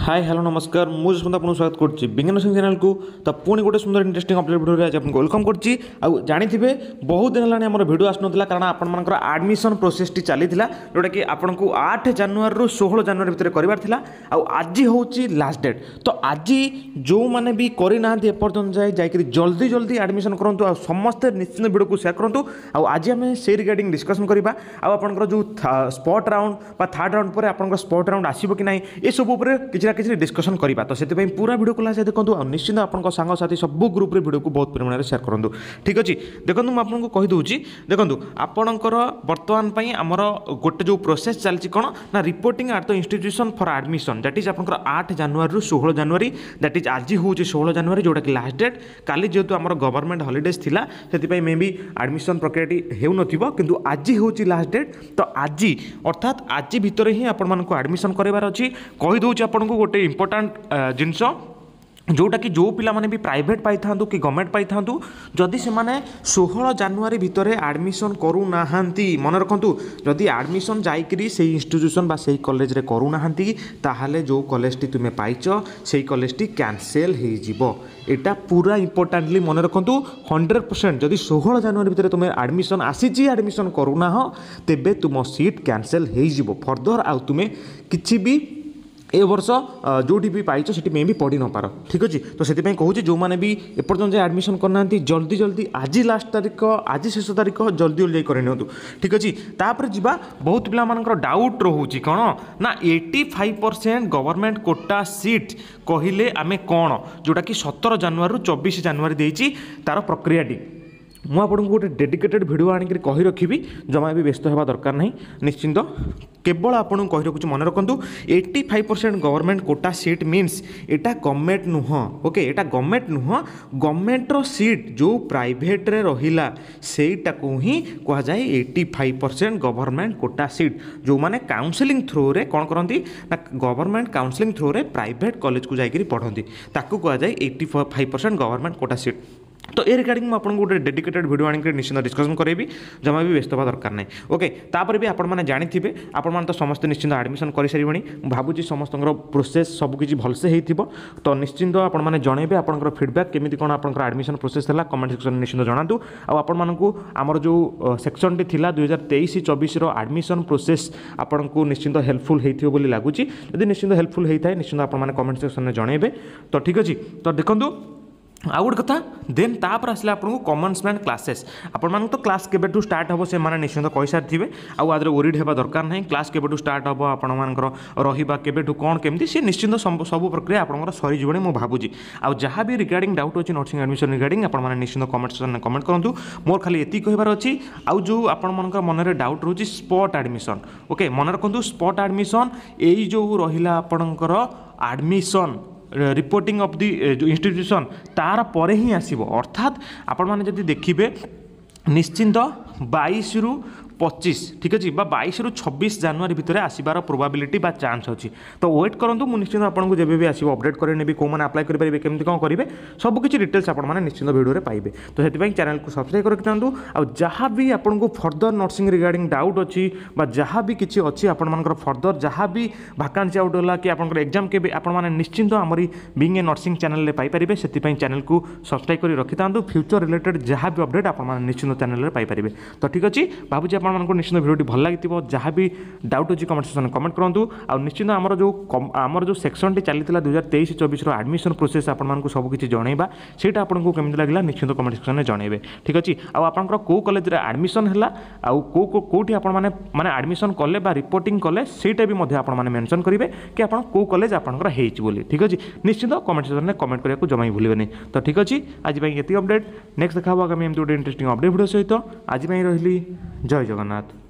ହାଏ, hello, ନମସ୍କାର। ମୁଁ ଯଶବନ୍ତ ଆପଣଙ୍କୁ ସ୍ୱାଗତ କରୁଛି ବିଜ୍ଞାନ ସିଂ ଚ୍ୟାନେଲକୁ। ତ ପୁଣି ଗୋଟେ ସୁନ୍ଦର ଇଣ୍ଟରେଷ୍ଟିଂ ଅପଡେଟ୍ ଭିଡ଼ିଓରେ ଆଜି ଆପଣଙ୍କୁ welcome କରୁଛି। ଆଉ ଜାଣିଥିବେ, ବହୁତ ଦିନ ହେଲାଣି ଆମର ଭିଡ଼ିଓ ଆସୁନଥିଲା, କାରଣ ଆପଣମାନଙ୍କର ଆଡ଼ମିସନ୍ ପ୍ରୋସେସଟି ଚାଲିଥିଲା, ଯେଉଁଟାକି ଆପଣଙ୍କୁ 8 ଜାନୁଆରୀରୁ 16 ଜାନୁଆରୀ ଭିତରେ କରିବାର ଥିଲା। ଆଉ ଆଜି ହେଉଛି ଲାଷ୍ଟ ଡେଟ୍। ତ ଆଜି ଯେଉଁମାନେ ବି କରିନାହାନ୍ତି ଏପର୍ଯ୍ୟନ୍ତ ଯାଏ, ଯାଇକରି ଜଲ୍ଦି ଜଲ୍ଦି ଆଡ଼ମିସନ୍ କରନ୍ତୁ ଆଉ ସମସ୍ତେ ନିଶ୍ଚିନ୍ତ ଭିଡ଼ିଓକୁ ସେୟାର କରନ୍ତୁ। ଆଉ ଆଜି ଆମେ ସେଇ ରିଗାର୍ଡ଼ିଂ ଡିସ୍କସନ୍ କରିବା। ଆଉ ଆପଣଙ୍କର ଯେଉଁ ସ୍ପଟ୍ ରାଉଣ୍ଡ ବା ଥାର୍ଡ଼ ରାଉଣ୍ଡ ପରେ ଆପଣଙ୍କର ସ୍ପଟ୍ ରାଉଣ୍ଡ ଆସିବ କି ନାହିଁ, ଏସବୁ ଉପରେ କିଛି ନା କିଛି ଡିସ୍କସନ୍ କରିବା। ତ ସେଥିପାଇଁ ପୁରା ଭିଡ଼ିଓକୁ ଲାଷ୍ଟ ଦେଖନ୍ତୁ ଆଉ ନିଶ୍ଚିନ୍ତ ଆପଣଙ୍କ ସାଙ୍ଗସାଥି ସବୁ ଗ୍ରୁପ୍ରେ ଭିଡ଼ିଓକୁ ବହୁତ ପରିମାଣରେ ସେୟାର କରନ୍ତୁ। ଠିକ୍ ଅଛି, ଦେଖନ୍ତୁ, ମୁଁ ଆପଣଙ୍କୁ କହିଦେଉଛି। ଦେଖନ୍ତୁ, ଆପଣଙ୍କର ବର୍ତ୍ତମାନ ପାଇଁ ଆମର ଗୋଟେ ଯେଉଁ ପ୍ରୋସେସ୍ ଚାଲିଛି କ'ଣ ନା reporting at the institution for admission, that is ଆପଣଙ୍କର 8 ଜାନୁଆରୀରୁ 16 ଜାନୁଆରୀ। That is ଆଜି ହେଉଛି 16 ଜାନୁଆରୀ, ଯେଉଁଟାକି ଲାଷ୍ଟ ଡେଟ୍। କାଲି ଯେହେତୁ ଆମର ଗଭର୍ଣ୍ଣମେଣ୍ଟ ହଲିଡେଜ୍ ଥିଲା, ସେଥିପାଇଁ ମେ ବି ଆଡ଼ମିସନ୍ ପ୍ରକ୍ରିୟାଟି ହେଉନଥିବ, କିନ୍ତୁ ଆଜି ହେଉଛି ଲାଷ୍ଟ ଡେଟ୍। ତ ଆଜି, ଅର୍ଥାତ୍ ଆଜି ଭିତରେ ହିଁ ଆପଣମାନଙ୍କୁ ଆଡ଼ମିସନ୍ କରିବାର ଅଛି। କହିଦେଉଛି ଆପଣଙ୍କୁ ଗୋଟେ ଇମ୍ପୋର୍ଟାଣ୍ଟ ଜିନିଷ, ଯେଉଁଟାକି ଯେଉଁ ପିଲାମାନେ ବି ପ୍ରାଇଭେଟ୍ ପାଇଥାନ୍ତୁ କି ଗଭର୍ଣ୍ଣମେଣ୍ଟ ପାଇଥାନ୍ତୁ, ଯଦି ସେମାନେ 16 ଜାନୁଆରୀ ଭିତରେ ଆଡ଼ମିସନ୍ କରୁନାହାନ୍ତି, ମନେ ରଖନ୍ତୁ, ଯଦି ଆଡ଼ମିସନ୍ ଯାଇକରି ସେଇ ଇନଷ୍ଟିଟ୍ୟୁସନ୍ ବା ସେଇ କଲେଜରେ କରୁନାହାନ୍ତି, ତାହେଲେ ଯେଉଁ କଲେଜଟି ତୁମେ ପାଇଛ, ସେଇ କଲେଜଟି କ୍ୟାନସେଲ୍ ହେଇଯିବ। ଏଇଟା ପୁରା ଇମ୍ପୋର୍ଟାଣ୍ଟଲି ମନେ ରଖନ୍ତୁ। 100% ଯଦି 16 ଜାନୁଆରୀ ଭିତରେ ତୁମେ ଆଡ଼ମିସନ୍ ଆସିଛି, ଆଡ଼ମିସନ୍ କରୁନାହ, ତେବେ ତୁମ ସିଟ୍ କ୍ୟାନସେଲ୍ ହେଇଯିବ। ଫର୍ଦର ଆଉ ତୁମେ କିଛି ବି ଏ ବର୍ଷ ଯେଉଁଠି ବି ପାଇଛ, ସେଠି ମେ ବି ପଢ଼ି ନପାର। ଠିକ୍ ଅଛି, ତ ସେଥିପାଇଁ କହୁଛି, ଯେଉଁମାନେ ବି ଏପର୍ଯ୍ୟନ୍ତ ଯାଏ ଆଡ଼ମିସନ୍ କରିନାହାନ୍ତି, ଜଲ୍ଦି ଜଲ୍ଦି, ଆଜି ଲାଷ୍ଟ ତାରିଖ, ଆଜି ଶେଷ ତାରିଖ, ଜଲ୍ଦି ଜଲ୍ଦି ଯାଇ କରିନିଅନ୍ତୁ। ଠିକ୍ ଅଛି, ତାପରେ ଯିବା। ବହୁତ ପିଲାମାନଙ୍କର ଡାଉଟ୍ ରହୁଛି କ'ଣ ନା 85% government quota seat କହିଲେ ଆମେ କ'ଣ, ଯେଉଁଟାକି 17 ଜାନୁଆରୀରୁ 24 ଜାନୁଆରୀ ଦେଇଛି ତା'ର ପ୍ରକ୍ରିୟାଟି। ମୁଁ ଆପଣଙ୍କୁ ଗୋଟେ ଡେଡିକେଟେଡ଼ ଭିଡ଼ିଓ ଆଣିକିରି କହି ରଖିବି, ଜମା ବି ବ୍ୟସ୍ତ ହେବା ଦରକାର ନାହିଁ। ନିଶ୍ଚିନ୍ତ କେବଳ ଆପଣଙ୍କୁ କହି ରଖୁଛି, ମନେ ରଖନ୍ତୁ, 85% government quota seat means ଏଇଟା ଗଭର୍ଣ୍ଣମେଣ୍ଟ ନୁହଁ। ଓକେ, ଏଇଟା ଗଭର୍ଣ୍ଣମେଣ୍ଟ ନୁହଁ। ଗଭର୍ଣ୍ଣମେଣ୍ଟର ସିଟ୍ ଯେଉଁ ପ୍ରାଇଭେଟରେ ରହିଲା, ସେଇଟାକୁ ହିଁ କୁହାଯାଏ 85% government quota seat. ଯେଉଁମାନେ କାଉନସିଲିଂ ଥ୍ରୋରେ କ'ଣ କରନ୍ତି ନା ଗଭର୍ଣ୍ଣମେଣ୍ଟ କାଉନସିଲିଂ ଥ୍ରୋରେ ପ୍ରାଇଭେଟ୍ କଲେଜକୁ ଯାଇକରି ପଢ଼ନ୍ତି, ତାକୁ କୁହାଯାଏ 85% government quota seat. ତ ଏ ରିଗାର୍ଡ଼ିଂ ମୁଁ ଆପଣଙ୍କୁ ଗୋଟେ ଡେଡିକେଟେଡ଼ ଭିଡ଼ିଓ ଆଣିକି ନିଶ୍ଚିନ୍ତ ଡିସ୍କସନ୍ କରାଇବି, ଜମା ବି ବ୍ୟସ୍ତ ହେବା ଦରକାର ନାହିଁ। ଓକେ, ତାପରେ ବି ଆପଣମାନେ ଜାଣିଥିବେ, ଆପଣମାନେ ତ ସମସ୍ତେ ନିଶ୍ଚିନ୍ତ ଆଡ଼ମିସନ୍ କରିସାରିବେଣି। ମୁଁ ଭାବୁଛି ସମସ୍ତଙ୍କର ପ୍ରୋସେସ୍ ସବୁକିଛି ଭଲସେ ହେଇଥିବ। ତ ନିଶ୍ଚିନ୍ତ ଆପଣମାନେ ଜଣାଇବେ ଆପଣଙ୍କର ଫିଡ଼ବ୍ୟାକ୍, କେମିତି କ'ଣ ଆପଣଙ୍କର ଆଡ଼ମିସନ୍ ପ୍ରୋସେସ୍ ହେଲା, କମେଣ୍ଟ ସେକ୍ସନରେ ନିଶ୍ଚିନ୍ତ ଜଣାନ୍ତୁ। ଆଉ ଆପଣମାନଙ୍କୁ ଆମର ଯେଉଁ ସେକ୍ସନଟି ଥିଲା 2023-24ର ଆଡ଼ମିସନ୍ ପ୍ରୋସେସ୍, ଆପଣଙ୍କୁ ନିଶ୍ଚିନ୍ତ ହେଲ୍ପଫୁଲ୍ ହେଇଥିବ ବୋଲି ଲାଗୁଛି। ଯଦି ନିଶ୍ଚିନ୍ତ ହେଲ୍ପଫୁଲ୍ ହେଇଥାଏ, ନିଶ୍ଚିନ୍ତ ଆପଣମାନେ କମେଣ୍ଟ ସେକ୍ସନରେ ଜଣାଇବେ। ତ ଠିକ୍ ଅଛି, ତ ଦେଖନ୍ତୁ, ଆଉ ଗୋଟେ କଥା। ଦେନ୍ ତାପରେ ଆସିଲା ଆପଣଙ୍କୁ କମେନ୍ସମେଣ୍ଟ କ୍ଲାସେସ୍। ଆପଣମାନଙ୍କୁ ତ କ୍ଲାସ୍ କେବେଠୁ ଷ୍ଟାର୍ଟ ହେବ, ସେମାନେ ନିଶ୍ଚିନ୍ତ କହିସାରିଥିବେ। ଆଉ ଆଦେହରେ ୱରିଡ୍ ହେବା ଦରକାର ନାହିଁ। କ୍ଲାସ୍ କେବେଠୁ ଷ୍ଟାର୍ଟ ହେବ, ଆପଣମାନଙ୍କର ରହିବା କେବେଠୁ, କ'ଣ କେମିତି, ସେ ନିଶ୍ଚିନ୍ତ ସବୁ ପ୍ରକ୍ରିୟା ଆପଣଙ୍କର ସରିଯିବଣି ମୁଁ ଭାବୁଛି। ଆଉ ଯାହା ବି ରିଗାର୍ଡ଼ିଂ ଡାଉଟ୍ ଅଛି ନର୍ସିଂ ଆଡ଼ମିସନ୍ ରିଗାର୍ଡ଼ିଂ, ଆପଣମାନେ ନିଶ୍ଚିନ୍ତ କମେଣ୍ଟ ସେକ୍ସନରେ କମେଣ୍ଟ କରନ୍ତୁ। ମୋର ଖାଲି ଏତିକି କହିବାର ଅଛି। ଆଉ ଯେଉଁ ଆପଣମାନଙ୍କର ମନରେ ଡାଉଟ୍ ରହୁଛି ସ୍ପଟ୍ ଆଡ଼ମିସନ୍, ଓକେ, ମନେ ରଖନ୍ତୁ, ସ୍ପଟ୍ ଆଡ଼ମିସନ୍ ଏଇ ଯେଉଁ ରହିଲା ଆପଣଙ୍କର ଆଡ଼ମିସନ୍ ରିପୋର୍ଟିଂ ଅଫ୍ the ଯେଉଁ ଇନଷ୍ଟିଟ୍ୟୁସନ୍, ତାର ପରେ ହିଁ ଆସିବ। ଅର୍ଥାତ୍ ଆପଣମାନେ ଯଦି ଦେଖିବେ, ନିଶ୍ଚିନ୍ତ 22ରୁ 25, ଠିକ୍ ଅଛି, ବା 22ରୁ 26 ଜାନୁଆରୀ ଭିତରେ ଆସିବାର ପ୍ରୋବାବିଲିଟି ବା ଚାନ୍ସ ଅଛି। ତ ୱେଟ୍ କରନ୍ତୁ, ମୁଁ ନିଶ୍ଚିନ୍ତ ଆପଣଙ୍କୁ ଯେବେ ବି ଆସିବ ଅପଡ଼େଟ୍ କରିନେବି। କେଉଁମାନେ ଆପ୍ଲାଏ କରିପାରିବେ, କେମିତି କ'ଣ କରିବେ, ସବୁକିଛି ଡିଟେଲ୍ସ ଆପଣମାନେ ନିଶ୍ଚିନ୍ତ ଭିଡ଼ିଓରେ ପାଇବେ। ତ ସେଥିପାଇଁ ଚ୍ୟାନେଲକୁ ସବସ୍କ୍ରାଇବ୍ କରି ରଖିଥାନ୍ତୁ। ଆଉ ଯାହା ବି ଆପଣଙ୍କୁ ଫର୍ଦର ନର୍ସିଂ ରିଗାର୍ଡ଼ିଂ ଡାଉଟ୍ ଅଛି ବା ଯାହା ବି କିଛି ଅଛି ଆପଣମାନଙ୍କର ଫର୍ଦର, ଯାହା ବି ଭାକାନ୍ସି ଆଉଟ୍ ହେଲା କି ଆପଣଙ୍କର ଏକ୍ଜାମ୍ କେବେ, ଆପଣମାନେ ନିଶ୍ଚିନ୍ତ ଆମରି ବିଙ୍ଗ ଏ ନର୍ସିଂ ଚ୍ୟାନେଲରେ ପାଇପାରିବେ। ସେଥିପାଇଁ ଚ୍ୟାନେଲକୁ ସବସ୍କ୍ରାଇବ୍ କରି ରଖିଥାନ୍ତୁ। ଫ୍ୟୁଚର ରିଲେଟେଡ଼ ଯାହା ବି ଅପଡ଼େଟ୍ ଆପଣମାନେ ନିଶ୍ଚିନ୍ତ ଚ୍ୟାନେଲରେ ପାଇପାରିବେ। ତ ଠିକ୍ ଅଛି, ଭାବୁଛି ଆପଣମାନଙ୍କୁ ନିଶ୍ଚିନ୍ତ ଭିଡ଼ିଓଟି ଭଲ ଲାଗିଥିବ। ଯାହା ବି ଡାଉଟ୍ ଅଛି, କମେଣ୍ଟ ସେକ୍ସନରେ କମେଣ୍ଟ କରନ୍ତୁ। ଆଉ ନିଶ୍ଚିନ୍ତ ଆମର ଯେଉଁ ସେକ୍ସନଟି ଚାଲିଥିଲା 2023-24ର ଆଡ଼ମିସନ୍ ପ୍ରୋସେସ୍, ଆପଣମାନଙ୍କୁ ସବୁକିଛି ଜଣାଇବା, ସେଇଟା ଆପଣଙ୍କୁ କେମିତି ଲାଗିଲା, ନିଶ୍ଚିନ୍ତ କମେଣ୍ଟ ସେକ୍ସନରେ ଜଣାଇବେ। ଠିକ୍ ଅଛି, ଆଉ ଆପଣଙ୍କର କେଉଁ କଲେଜରେ ଆଡ଼ମିସନ୍ ହେଲା ଆଉ କେଉଁ କେଉଁଠି ଆପଣମାନେ ମାନେ ଆଡ଼ମିସନ୍ କଲେ ବା ରିପୋର୍ଟିଂ କଲେ, ସେଇଟା ବି ମଧ୍ୟ ଆପଣମାନେ ମେନସନ୍ କରିବେ କି ଆପଣ କେଉଁ କଲେଜ ଆପଣଙ୍କର ହେଇଛି ବୋଲି। ଠିକ୍ ଅଛି, ନିଶ୍ଚିନ୍ତ କମେଣ୍ଟ ସେକ୍ସନରେ କମେଣ୍ଟ କରିବାକୁ ଜମା ବି ଭୁଲିବେନି। ତ ଠିକ୍ ଅଛି, ଆଜି ପାଇଁ ଏତିକି ଅପଡ଼େଟ୍। ନେକ୍ସଟ ଦେଖା ହେବ ଆଗାମୀ ଏମିତି ଗୋଟେ ଇଣ୍ଟରେଷ୍ଟିଂ ଅପଡ଼େଟ୍ ଭିଡ଼ିଓ ସହିତ। ଆଜି ପାଇଁ ରହିଲି, ଜୟ ଜଗନ୍ନାଥ।